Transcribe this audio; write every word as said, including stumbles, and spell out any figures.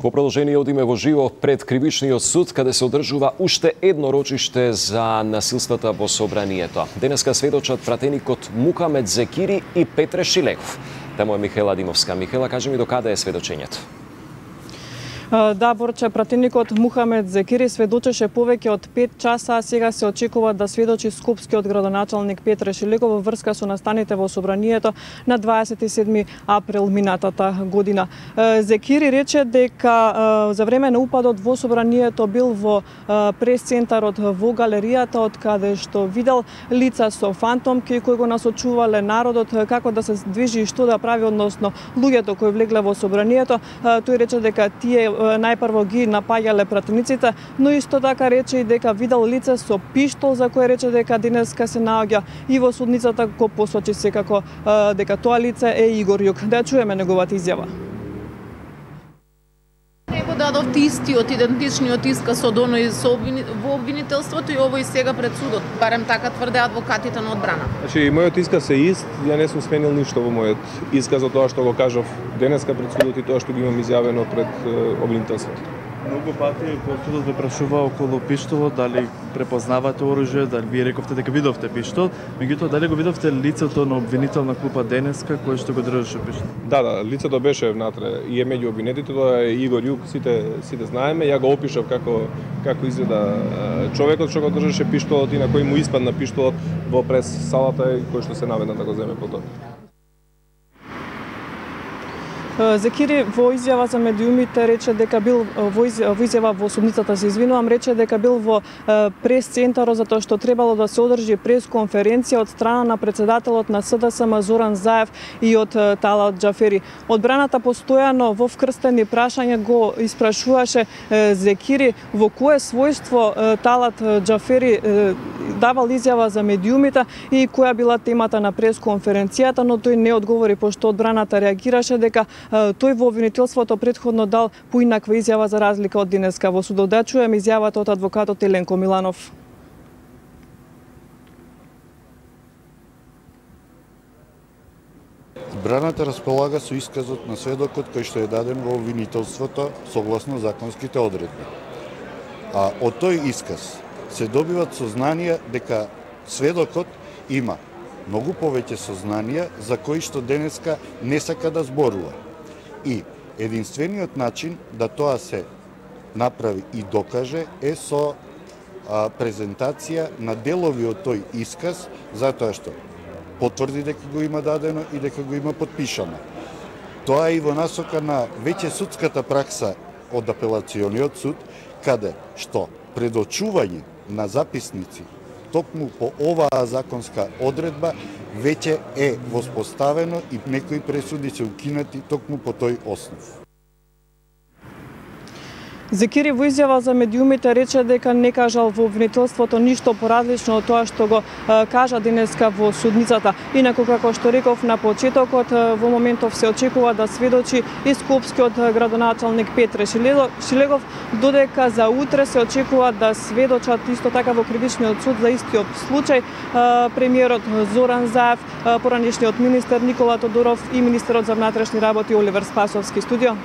Во продолжение одиме во живо пред Кривичниот суд, каде се одржува уште едно рочиште за насилствата во собранието. Денеска сведочат пратеникот Мухамед Зекири и Петре Шилегов. Тamo е Михела Димовска. Михела, кажи ми до каде е сведочењето? Да, Борче, пратеникот Мухамед Зекири сведочеше повеќе од пет часа, а сега се очекува да сведочи скопскиот градоначалник Петре Шилегов во врска со настаните во собранието на дваесет и седми април минатата година. Зекири рече дека за време на упадот во собранието бил во прес-центарот во галеријата, од каде што видел лица со фантомки кои го насочувале народот како да се движи и што да прави, односно луѓето кои влегле во собранието. Тој рече дека тие најпрво ги напаѓале пратениците, но исто така рече и дека видел лице со пиштол, за кое рече дека денеска се наоѓа и во судницата, го посочи секако дека тоа лице е Игор Јук. Да чуеме неговата изјава. Него дадовте истиот, идентичниот исказ од оној со обвини... во обвинителството и овој сега пред судот, барем така тврде адвокатите на одбрана. Значи, мојот исказ е ист, ја не сум сменил ништо во мојот исказ од тоа што го кажав денеска пред судот и тоа што го имам изјавено пред обвинителството. Многу пати по судот ве прашува околу пиштолот, дали препознавате оружје, дали вие рековте дека видовте пиштол, меѓутоа дали го видовте лицето на обвинителна клупа денеска кој што го држеше пиштол? Да, да, лицето беше внатре и е меѓу обвинетите, тоа е Игор Јук, сите сите знаеме, ја го опишав како како изгледа човекот што го држеше пиштолот и на кој му испадна пиштолот во прес салата и кој што се наведна да го земе потоа. Зекири во изјава за медиумите рече дека бил во изјава во судницата, се извинувам, рече дека бил во прес-центарот затоа што требало да се одржи прес-конференција од страна на председателот на С Д С М Зоран Заев и од Талат Џафери. Одбраната постојано во вкрстени прашања го испрашуваше Зекири во кое својство Талат Џафери давал изјава за медиумите и која била темата на прес-конференцијата, но тој не одговори, пошто одбраната реагираше дека тој во обвинителството претходно дал поинаква изјава за разлика од денеска во судот. Да чуеме изјавата од адвокатот Еленко Миланов. Одбраната располага со исказот на сведокот кој што е даден во обвинителството согласно законските одредби. А од тој исказ се добиват сознанија дека сведокот има многу повеќе сознанија за кои што денеска не сака да зборува. И единствениот начин да тоа се направи и докаже е со а, презентација на делови од тој исказ, затоа што потврди дека го има дадено и дека го има подпишано. Тоа е и во насока на веќе судската пракса од апелациониот суд, каде што предочување на записници токму по оваа законска одредба веќе е воспоставено и некои пресуди се укинати токму по тој основ. Зекири во изјава за медиумите рече дека не кажал во обвинителството ништо поразлично од тоа што го кажа денеска во судницата. Инаку, како што реков на почетокот, во моментов се очекува да сведочи и скопскиот градоначалник Петре Шилегов, додека за утре се очекува да сведочат исто така во Кривичниот суд за истиот случај премиерот Зоран Заев, поранешниот министер Никола Тодоров и министерот за внатрешни работи Оливер Спасовски. Студио.